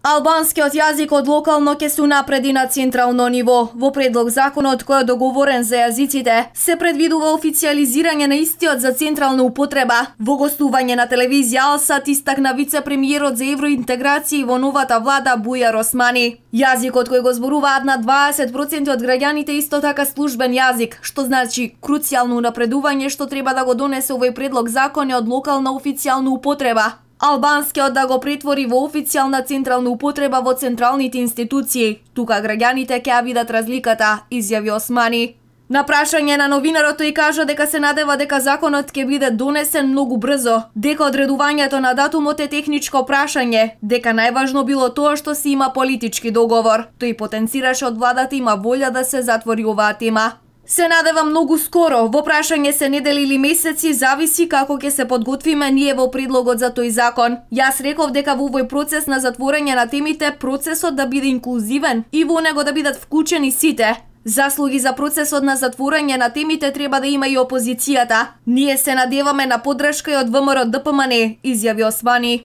Албанскиот јазик од локално ќе се унапреди на централно ниво. Во предлог законот кој е договорен за јазиците, се предвидува официјализирање на истиот за централна употреба. Во гостување на телевизија Алсат истакна вице-премиерот за евроинтеграција во новата влада Бујар Османи. Јазикот кој го зборуваат на 20% од граѓаните исто така службен јазик, што значи круцијално унапредување што треба да го донесе овој предлог закон е од локална официјална употреба. Албанскиот да го претвори во официјална централна употреба во централните институции. Тука граѓаните ќе ја видат разликата, изјави Османи. На прашање на новинарот тој кажа дека се надева дека законот ќе биде донесен многу брзо, дека одредувањето на датумот е техничко прашање, дека најважно било тоа што се има политички договор. Тој потенцираше од владата има волја да се затвори оваа тема. Се надева многу скоро, во прашање се недели или месеци, зависи како ќе се подготвиме ние во предлогот за тој закон. Јас реков дека во овој процес на затворање на темите, процесот да биде инклузивен и во него да бидат вклучени сите. Заслуги за процесот на затворање на темите треба да има и опозицијата. Ние се надеваме на поддршка и од ВМРО ДПМН, изјави Османи.